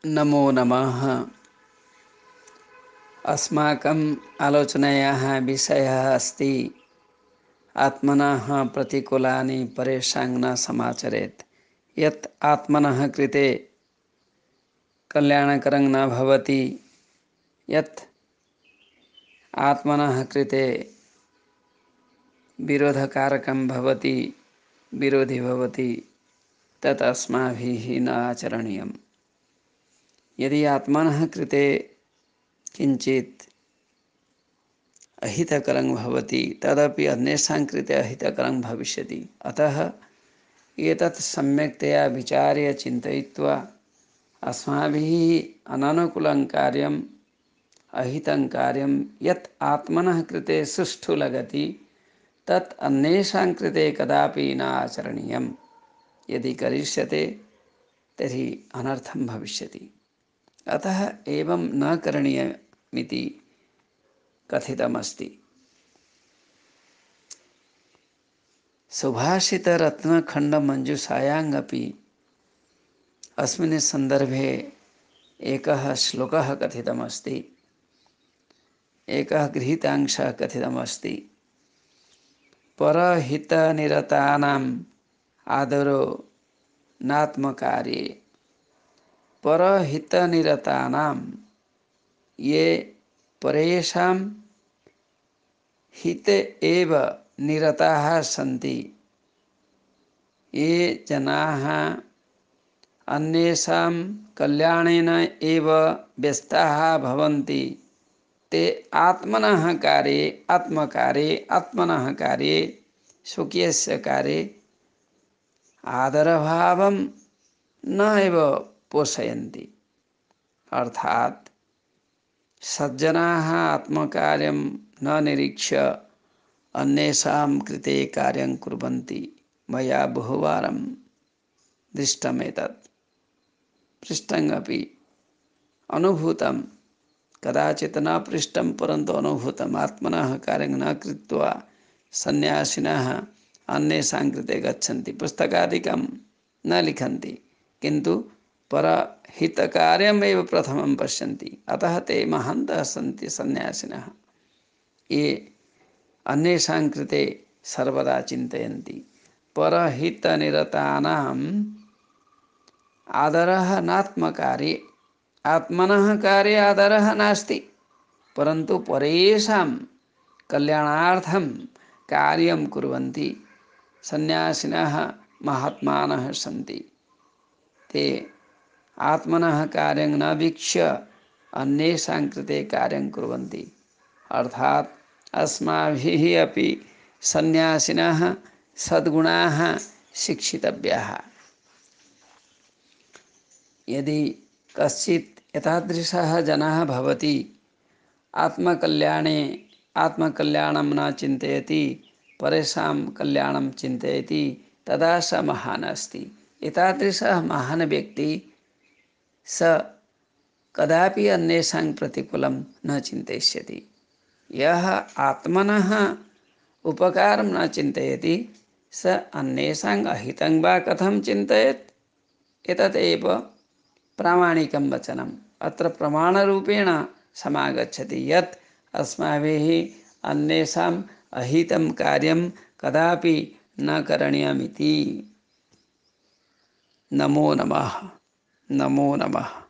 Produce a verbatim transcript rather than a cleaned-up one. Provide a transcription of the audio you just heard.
नमो नमः। अस्माकम् आलोचनायाः विषयः अस्ति आत्मनः प्रतिकूलानि परेषां न समाचरेत्। यत् आत्मनः कृते कल्याणकरं न भवति, यत् आत्मनः कृते विरोधकारकं भवति, विरोधी भवति, तत् अस्माभिः न आचरणीयम्। यदि आत्मनः कृते किञ्चित् अहितकरं भवति तदपि अन्येषां कृते अहितकरं भविष्यति। अतः एतत् सम्यक्तया विचार्य चिन्तयित्वा अस्माभिः अननुकूलं कार्यम् अहितं कार्यं यत् आत्मनः कृते सुष्ठु लगति तत् अन्येषां कृते कदापि न आचरणीयम्। यदि करिष्यते तर्हि अनर्थं भविष्यति। अतः एवं न करणीयमिति कथितमस्ति। सुभाषितरत्नखण्डमञ्जूषायामपि अस्मिन् सन्दर्भे एकः श्लोकः कथितमस्ति, एकः गृहीतांशः कथितमस्ति। परहितनिरतानाम् आदरो नात्मकार्ये। परहितनिरतानां ये परेषां हिते एव निरताः सन्ति, ये जनाः अन्येषां कल्याणेन एव व्यस्ताः भवन्ति, ते आत्मनः कार्ये आत्मकार्ये आत्मनः कार्ये स्वकीयस्य कार्ये आदरभावं न एव पोषयन्ति। अर्थात् सज्जनाः आत्मकार्यं न निरीक्ष्य अन्येषां कृते कार्यं कुर्वन्ति। मया बहुवारं दृष्टमेतत्, पृष्टमपि अनुभूतं, कदाचित् न पृष्टं परन्तु अनुभूतम्। आत्मनः कार्यं न कृत्वा सन्यासिनः अन्येषां कृते गच्छन्ति, पुस्तकादिकं न लिखन्ति, किन्तु परहितकार्यमेव प्रथमं पश्यन्ति। अतः ते महान्तः सन्ति सन्यासिनः, ये अन्येषां कृते सर्वदा चिन्तयन्ति। परहितनिरतानाम् आदरः नात्मकार्ये। आत्मनः कार्ये आदरः नास्ति, परन्तु परेषां कल्याणार्थं कार्यं कुर्वन्ति सन्यासिनः महात्मानः सन्ति। ते आत्मनः कार्यं न वीक्ष्य अन्येषां कृते कार्यं कुर्वन्ति। अर्थात् अस्माभिः अपि सन्यासिनः सद्गुणाः शिक्षितव्याः। यदि कश्चित् एतादृशः जनः भवति, आत्मकल्याणे आत्मकल्याणं न चिन्तयति, परेषां कल्याणं चिन्तयति, तदा स महान् अस्ति। एतादृशः महान् व्यक्ति स कदापि अन्येषां प्रतिकूलं न चिन्तयिष्यति। यः आत्मनः उपकारं न चिन्तयति स अन्येषां अहितं वा कथं चिन्तयेत्? एतदेव प्रामाणिकं वचनम् अत्र प्रमाणरूपेण समागच्छति यत् अस्माभिः अन्येषाम् अहितं कार्यं कदापि न करणीयमिति। नमो नमः। नमो नमः।